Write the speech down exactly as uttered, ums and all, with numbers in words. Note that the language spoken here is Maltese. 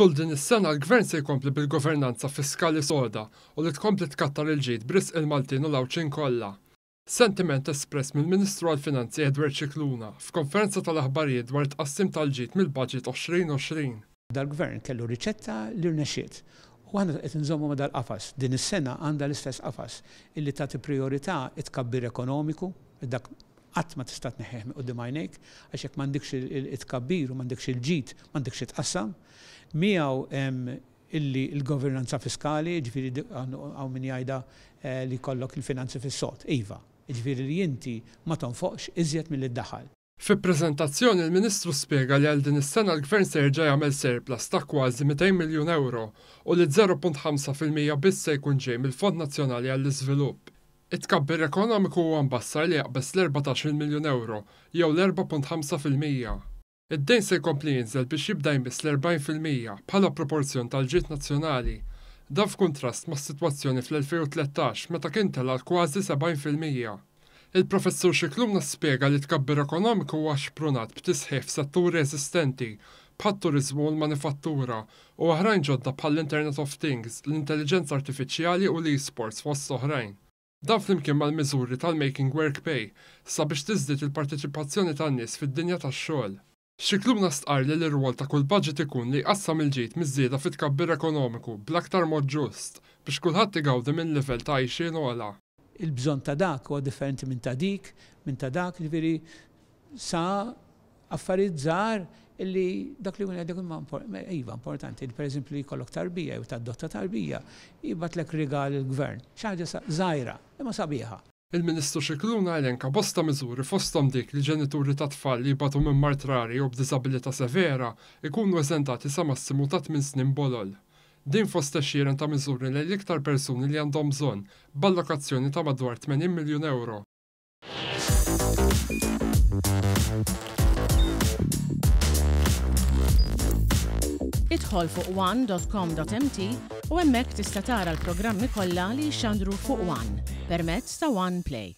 Tul din is-sena l-Gvern se jkompli bil-governanza fiskali soda u li tkompli tkattar il-ġid b'risq il-Maltin u l-Għawdxin kollha. Sentiment espress mill-Ministru għall-Finanzi Edward Scicluna f'konferenza tal-aħbarijiet dwar tqassim tal-ġid mill-Budget elfejn u għoxrin. Dal-gvern kellu riċetta li rnexxiet. U aħna qed inżommu ma' dal-qafas. Din is-sena għandha l-istess qafas illi tagħti priorità it-tkabbir ekonomiku, dak qatt ma tista' tneħħih minn quddiem għajnejk, għax jekk m'għandekx it-tkabbir u m'għandekx il-ġid, m'għandekx itqassam. Miegħu hemm illi l-governanza fiskali, ġifieri hawn min jgħidha eh, li jkollok il-finanzi fis-sod. Iva, ġifieri li inti ma tonfoqx iżjed milli ddaħħal. Fi prezentazzjoni il-Ministru spjega li għal din is-sena l-Gvern se jerġa' jagħmel surplus ta' kważi mitejn miljun euro u li żero punt ħamsa fil-mija biss se jkun ġej mill-Fond Nazzjonali għall-Iżvilupp. It-tkabbir ekonomiku huwa mbassar li jaqbeż l-erbatax-il miljun euro jew l-erbgħa punt ħamsa fil-mija. Id-dejn se jkompli jinżel biex jibda jmiss l-erbgħin fil-mija bħala proporzjon tal-ġid nazzjonali. Dan f'kuntrast mas-sitwazzjoni fl-elfejn u tlettax meta kien tela' kważi sebgħin fil-mija. Il-professur Scicluna spjega li tkabbir ekonomiku huwa xprunat b'tisħiħ f'setturi eżistenti bħat-turiżmu u l-manifattura u oħrajn ġodda bħall-Internet of Things, l-intelligenza artifiċjali u l-e-sports, fost oħrajn. Dan flimkien mal-miżuri tal-Making Work Pay sabiex tiżdied il-parteċipazzjoni tan-nies fid-dinja tax-xogħol. Scicluna stqar li l-irwol ta' kull budget ikun li jqassam il-ġid miż-żieda fit-tkabbir ekonomiku bl-aktar mod ġust biex kulħadd igawdi minn livell ta' għajxien ogħla. Il-bżonn ta' dak huwa differenti minn ta' dik, minn ta' dak, ġifieri sa affarijiet żgħar illi dak li jkun imma iva importanti, per eżempju li jkollok tarbija jew tadotta tarbija, jibgħatlek rigal il-gvern, xi ħaġa żgħira, imma sabiħa. Il-Ministru Scicluna elenka bosta miżuri, fosthom dik li ġenituri ta' tfal li jbatu minn mard rari u b'diżabilità severa ikunu eżentati sa massimu ta' tmien snin bolol. Din fost għexieren ta' miżuri li l-iktar persuni li għandhom bżonn, b'allokazzjoni ta' madwar tmenin miljun euro. Idħol fuq one dot com dot M T u hemmhekk tista' tara l-programmi kollha li jxandru fuq One permezz ta' One Play.